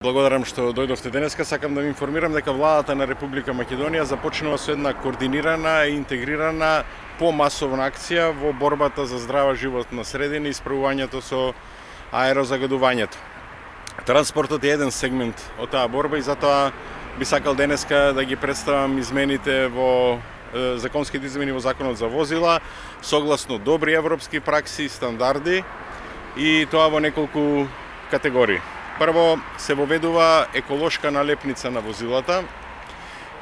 Благодарам што дојдовте денеска. Сакам да ви информирам дека владата на Република Македонија започнува со една координирана и интегрирана помасовна акција во борбата за здрава животна средина и справувањето со аерозагадувањето. Транспортот е еден сегмент од таа борба и затоа би сакал денеска да ги представам измените во законските измени во Законот за возила, согласно добри европски пракси и стандарди, и тоа во неколку категории. Прво, се воведува еколошка налепница на возилата.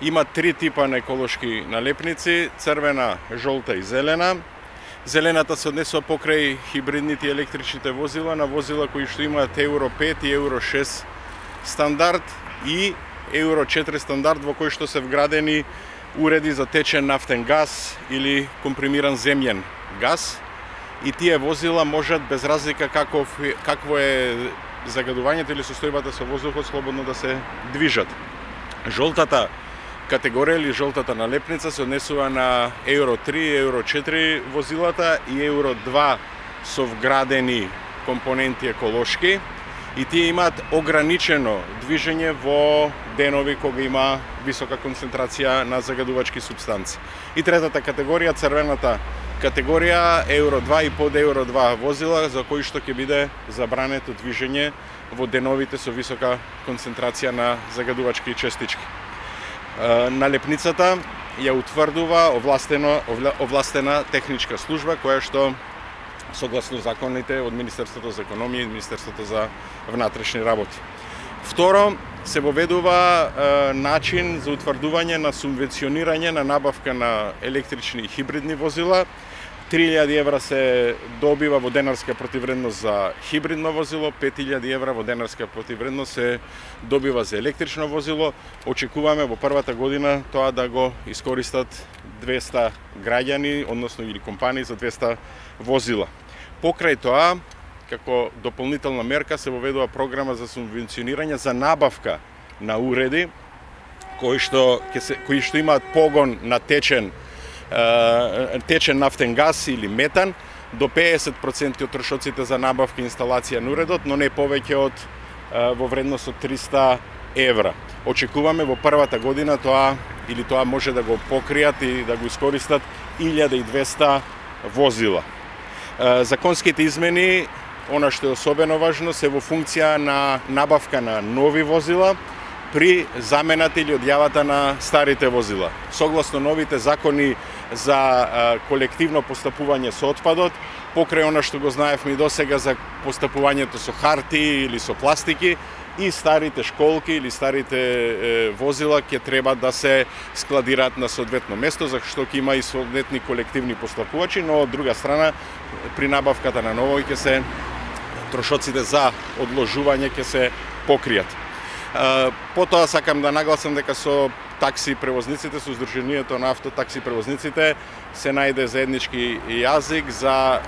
Има три типа на еколошки налепници: црвена, жолта и зелена. Зелената се однесува покрај хибридните и електричните возила, на возила кои што имаат Евро 5 и Евро 6 стандард и Евро 4 стандард, во кои што се вградени уреди за течен нафтен газ или компримиран земјен газ. И тие возила можат без разлика какво е загадувањето или состојбата со воздухот слободно да се движат. Жолтата категорија или жолтата налепница се однесува на Евро 3, Евро 4 возилата и Евро 2 со вградени компоненти еколошки, и тие имаат ограничено движење во денови кога има висока концентрација на загадувачки супстанци. И третата категорија, црвената категорија, Евро 2 и под Евро 2 возила, за кои што ќе биде забрането движење во деновите со висока концентрација на загадувачки честички. Налепницата ја утврдува овластена техничка служба, која што согласно законите од Министерството за економија и Министерството за внатрешни работи. Второ, се воведува начин за утврдување на субвенционирање на набавка на електрични и хибридни возила. 3000 евра се добива во денарска противвредност за хибридно возило, 5000 евра во денарска противвредност се добива за електрично возило. Очекуваме во првата година тоа да го искористат 200 граѓани, односно или компании за 200 возила. Покрај тоа, како дополнителна мерка, се воведува програма за субвенционирање за набавка на уреди кои што имаат погон на течен нафтен газ или метан, до 50% од трошоците за набавка и инсталација на уредот, но не повеќе од во вредност од 300 евра. Очекуваме во првата година тоа може да го покријат и да го искористат 1200 возила. Законските измени, она што е особено важно, се во функција на набавка на нови возила при замената или одјавата на старите возила. Согласно новите закони за колективно постапување со отпадот, покрај она што го знаевме и досега за постапувањето со хартии или со пластики, и старите школки или старите возила ќе треба да се складираат на соодветно место, зашто ќе има и соодветни колективни постапувачи, но од друга страна при набавката на ново ќе се трошоците за одложување ќе се покријат. Потоа сакам да нагласам дека со такси превозниците, со Сдруженијето на автотакси превозниците се најде заеднички јазик за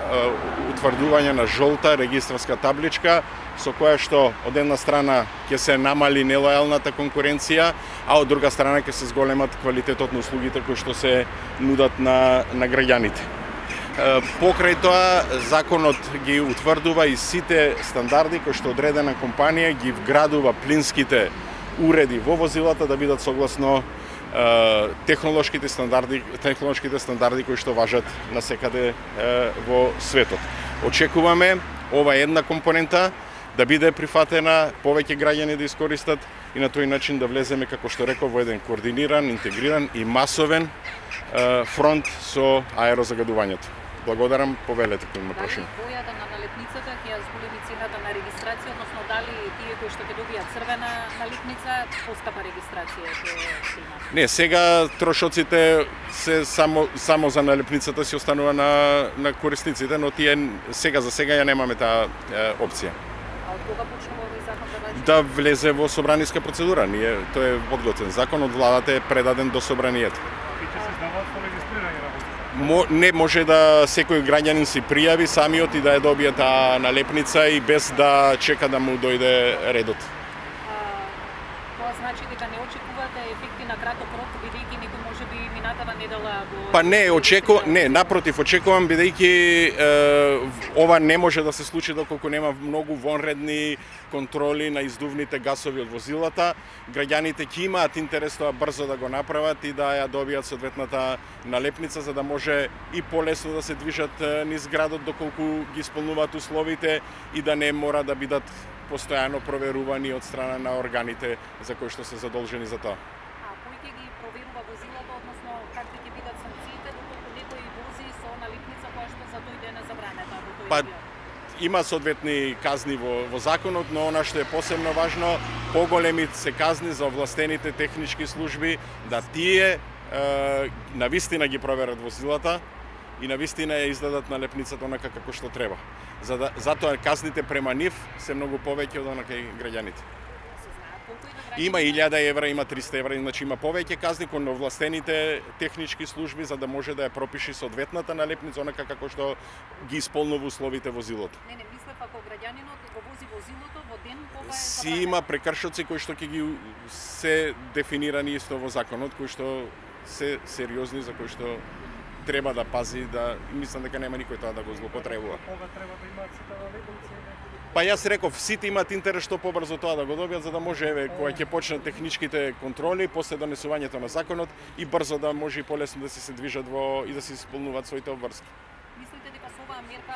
утврдување на жолта регистарска табличка, со која што од една страна ќе се намали нелојалната конкуренција, а од друга страна ќе се зголемат квалитетот на услугите кои што се нудат на граѓаните. Покрај тоа, законот ги утврдува и сите стандарди кои што одредена компанија ги вградува плинските уреди во возилата да бидат согласно технолошките стандарди кои што важат насекаде во светот. Очекуваме ова една компонента да биде прифатена, повеќе граѓани да искористат и на тој начин да влеземе, како што реков, во еден координиран, интегриран и масовен фронт со аерозагадувањето. Благодарам, повелете кој има прашање. Дали бојата на налепницата ќе ја зголеми цената на регистрација, односно дали тие кои што ќе добијат црвена налепница, поскапа регистрација ќе имаат? Не, сега трошоците се само за налепницата си останува на корисниците, но тие сега за сега ја немаме таа опција. А од кога почнува овој закон да важи? Да влезе во собраниска процедура. Тој е подготвен закон, од владата е предаден до собранието. Не може да секој граѓанин си пријави самиот и да ја добие таа налепница и без да чека да му дојде редот. Тоа значи дека не очекувате ефекти на краток рок, бидејќи некој можеби минатава недела го... Па не, напротив, очекувам бидејќи ова не може да се случи доколку нема многу вонредни контроли на издувните гасови од возилата. Граѓаните ќе имаат интерес тоа брзо да го направат и да ја добијат соодветната налепница за да може и полесно да се движат низ градот доколку ги исполнуваат условите и да не мора да бидат постојано проверувани од страна на органите за кои што се задолжени за тоа. А кој ќе ги проверува возилата, односно какви ќе бидат санкциите доколку некој вози со налепница која што за тој ден е забранета во тој Па, регион? има соодветни казни во законот, но она што е посебно важно, поголеми се казни за овластените технички служби да тие навистина ги проверат возилата и навистина ја издадат налепницата онака како што треба. Затоа казните према нив се многу повеќе од онака и граѓаните. Има 1000 евра, има 300 евра, значи има повеќе казни кон овластените технички служби за да може да ја пропиши соодветната налепница онака како што ги исполнува условите возилото. Не, мислев ако граѓанинот го вози возилото во ден кога е Си забранено. има прекршоци кои што ќе ги се дефинирани исто во законот, кои што се сериозни, за кои што треба да пази, да мислам дека нема никој тоа да го злоупотребува. Кога треба да имаат сите налепници? Па јас реков, сите имаат интерес што побрзо тоа да го добијат, за да може еве кога ќе почнат техничките контроли после донесувањето на законот и брзо да може и полесно да се движат во и да се исполнуваат своите обврски. Мислите дека со оваа мерка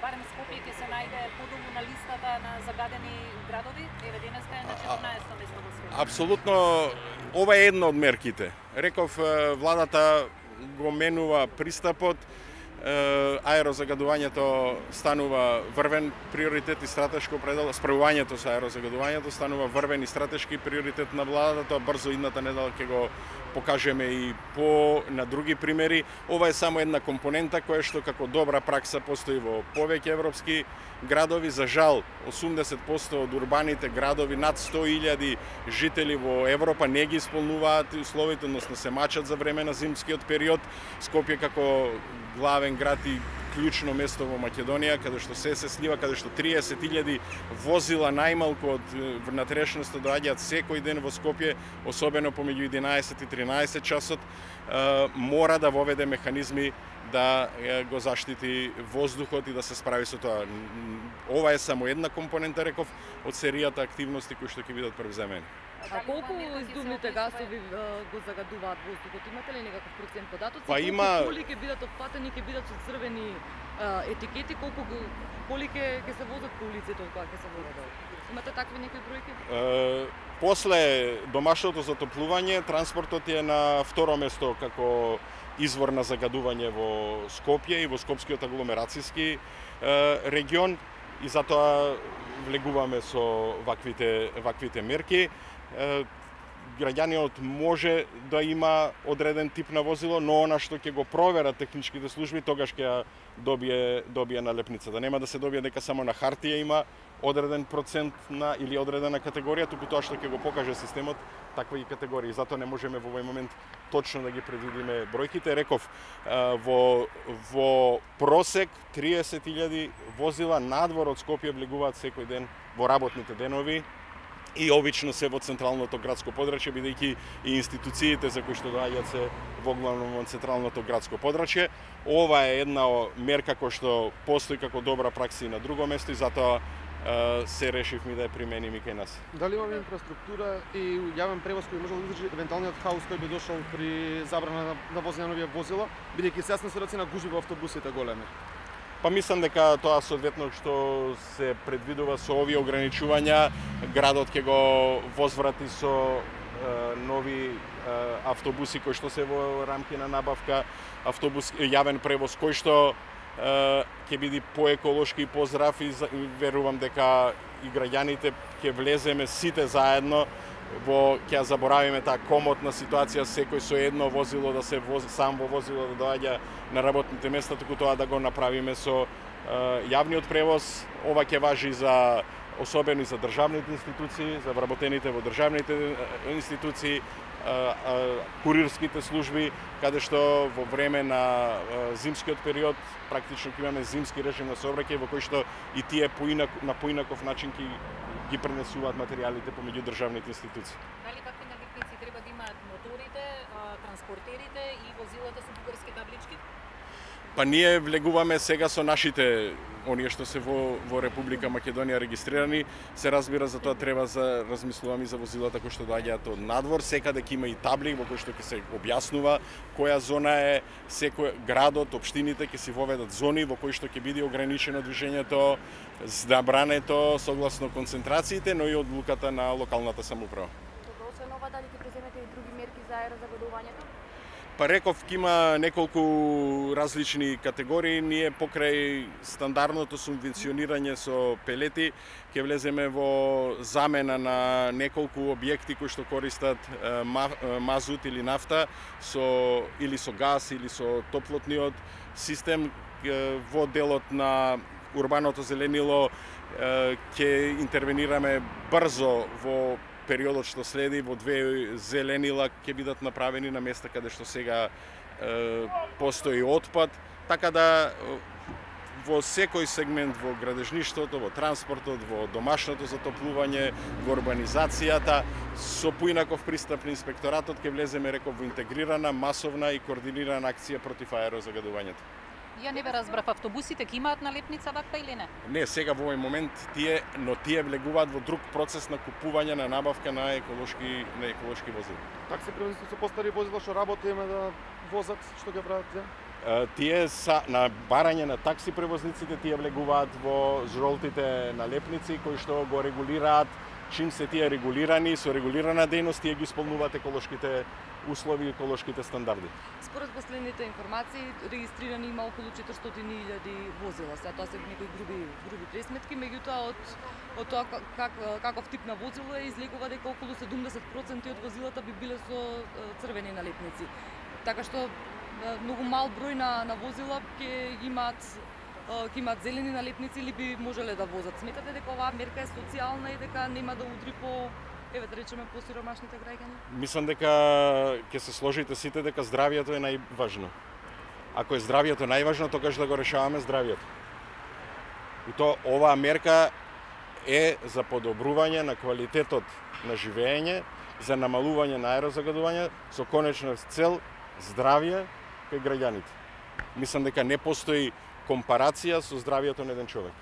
барем Скопје ќе се најде подолу на листата на загадени градови? Еве денеска е на 14-то место во светот. Апсолутно, ова е една од мерките. Реков, владата го менува пристапот, аерозагадувањето станува врвен приоритет и стратешко определено, справувањето со аерозагадувањето станува врвен и стратешки приоритет на владата, тоа брзо идната недела ќе го покажеме и на други примери. Ова е само една компонента која што како добра пракса постои во повеќе европски градови. За жал, 80% од урбаните градови, над 100.000 жители во Европа не ги исполнуваат условите, односно се мачат за време на зимскиот период. Скопје како главен град и клучно место во Македонија, каде што се слива, каде што 30.000 возила најмалку од внатрешноста доаѓаат секој ден во Скопје, особено помеѓу 11 и 13 часот, мора да воведе механизми да го заштити воздухот и да се справи со тоа. Ова е само една компонента, реков, од серијата активности кои што ќе бидат превземени. А колку издувните гасови го загадуваат воздухот? Имате ли некаков процент податоци? Па има... Коли ќе бидат опфатени, ќе бидат со црвени етикети, коли ќе се возат по улиците кога ќе се водат? Имате такви некои бројки? После домашното затоплување, транспортот е на второ место како извор на загадување во Скопје и во Скопскиот агломерацијски регион и затоа влегуваме со ваквите мерки. Граѓанинот може да има одреден тип на возило, но она што ќе го проверат техничките служби, тогаш ќе добие налепница. Да нема да се добие дека само на хартија има одреден процент на или одредена категорија, туку тоа што ќе го покаже системот, такви категории. Затоа не можеме во овој момент точно да ги предвидиме бројките. Реков, во просек 30.000 возила надвор од Скопје влегуваат секој ден во работните денови и обично се во централното градско подрачје, бидејќи и институциите за кои што доаѓаат се во главно во централното градско подрачје. Ова е една мерка која што постои како добра пракса и на друго место и затоа се решивме да ја применим и кај нас. Дали имаме инфраструктура и јавен превоз кој може да издржи евентуалниот хаос кој би дошол при забрана на возење на овие возила, бидејќи се јас на сведоци на гужви во автобусите големи? Па мислам дека тоа соодветно што се предвидува со овие ограничувања, градот ќе го возврати со нови автобуси кои што се во рамки на набавка, јавен превоз кој што ќе биде поеколошки и поздрав и верувам дека и граѓаните ќе влеземе сите заедно ќе ја заборавиме таа комотна ситуација, секој со едно возило да се вози, сам во возило да доаѓа на работните места, туку тоа да го направиме со јавниот превоз. Ова ќе важи за особено и за државните институции, за вработените во државните институции, курирските служби, каде што во време на зимскиот период практично ќе имаме зимски режим на сообраќај во кој што и тие на поинаков начин ќе ги пренесуваат материјалите помеѓу државните институции. Дали какви налепници треба да имаат моторите, транспортерите и возилата со бугарски таблички? Па ние влегуваме сега со нашите, оние што се во Република Македонија регистрирани, се разбира за тоа треба за размислуваме за возилата кои што доаѓаат од надвор, секаде ќе има и табли во кои што ќе се објаснува која зона е, секој градот, општините ќе си воведат зони во кои што ќе биде ограничено движењето, забрането согласно концентрациите, но и одлуката на локалната самоуправа. Добро, освен ова, дали ќе преземете и други мерки за аерозагадувањето? Па реков, има неколку различни категории. Ние покрај стандардното субвенционирање со пелети ќе влеземе во замена на неколку објекти кои што користат мазут или нафта или со газ или со топлотниот систем. Во делот на урбаното зеленило ќе интервенираме брзо во периодот што следи, во 2 зеленила ќе бидат направени на места каде што сега постои отпад, така да во секој сегмент во градежништвото, во транспортот, во домашното затоплување, во урбанизацијата, со поинаков пристап на инспекторатот ќе влеземе, реков, во интегрирана, масовна и координирана акција против аерозагадувањето. Ја не ве разбрав, автобусите ќе имаат налепница ваква или не? Не, сега во овој момент тие влегуваат во друг процес на купување, на набавка на еколошки возила. Такси превозници со постари возила што работиме да возат, што ќе прават тие? Тие са на барање на такси превозниците, тие влегуваат во жолтите налепници кои што го регулираат. Чим се тие регулирани, со регулирана дејност, тие ги исполнуваат еколошките услови и еколошките стандарди. Според последните информации, регистрирани има околу 400.000 возила. Сега тоа се некои груби пресметки, меѓутоа од тоа каков тип на возило е, излегува дека околу 70% од возилата би биле со црвени налепници. Така што многу мал број на возила ќе имаат зелени налепници или би можеле да возат. Сметате дека оваа мерка е социјална и дека нема да удри по, да речеме, по сиромашните граѓани? Мислам дека ќе се сложите сите дека здравието е најважно. Ако е здравието најважно, тогаш да го решаваме здравието. И то оваа мерка е за подобрување на квалитетот на живење, за намалување на аерозагадување со конечна цел здравје кај граѓаните. Мислам дека не постои компарација со здравието на еден човек.